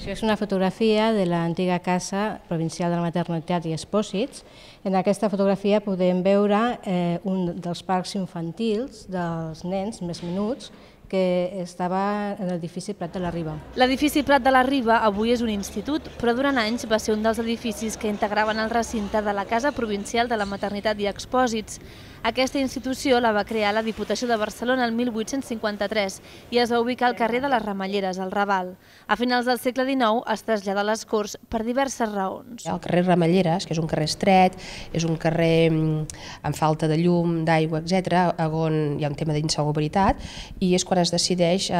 Això és una fotografia de l'antiga Casa Provincial de la Maternitat i Expòsits. En aquesta fotografia podem veure un dels parcs infantils dels nens més menuts que estava en l'edifici Prat de la Riba. L'edifici Prat de la Riba avui és un institut, però durant anys va ser un dels edificis que integraven el recinte de la Casa Provincial de la Maternitat i Expòsits. Aquesta institució la va crear la Diputació de Barcelona el 1853 i es va ubicar al carrer de les Ramelleres, al Raval. A finals del segle XIX es trasllada a les Corts per diverses raons. El carrer Ramelleres, que és un carrer estret, és un carrer amb falta de llum, d'aigua, etc., on hi ha un tema d'insalubritat, i és quan es decideix,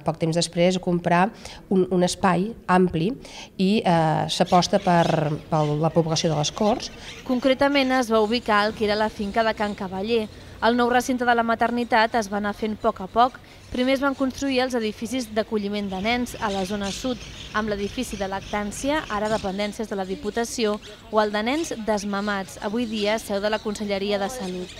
poc temps després, comprar un espai ampli i s'aposta per la població de les Corts. Concretament es va ubicar al que era la finca de Can Cavaller. El nou recinte de la maternitat es va anar fent a poc. Primer es van construir els edificis d'acolliment de nens a la zona sud, amb l'edifici de lactància, ara dependències de la Diputació, o el de nens desmamats, avui dia seu de la Conselleria de Salut.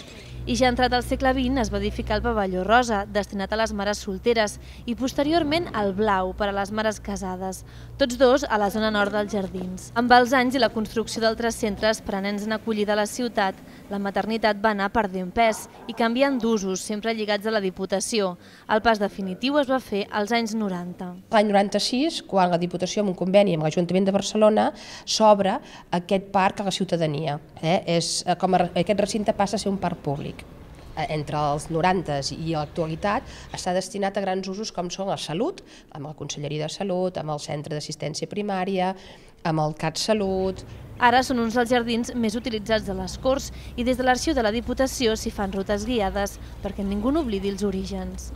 I ja entrat al segle XX es va edificar el pavelló rosa, destinat a les mares solteres, i posteriorment el blau, per a les mares casades, tots dos a la zona nord dels jardins. Amb els anys i la construcció d'altres centres per a nens en acollida a la ciutat, la maternitat va anar perdent pes i canviant d'usos, sempre lligats a la Diputació. El pas definitiu es va fer als anys 90. L'any 96, quan la Diputació, amb un conveni amb l'Ajuntament de Barcelona, s'obre aquest parc a la ciutadania. Aquest recinte passa a ser un parc públic. Entre els 90s i l'actualitat està destinat a grans usos com són la salut, amb la Conselleria de Salut, amb el Centre d'Assistència Primària, amb el CatSalut. Ara són uns dels jardins més utilitzats de les Corts i des de l'Arxiu de la Diputació s'hi fan rutes guiades perquè ningú n'oblidi els orígens.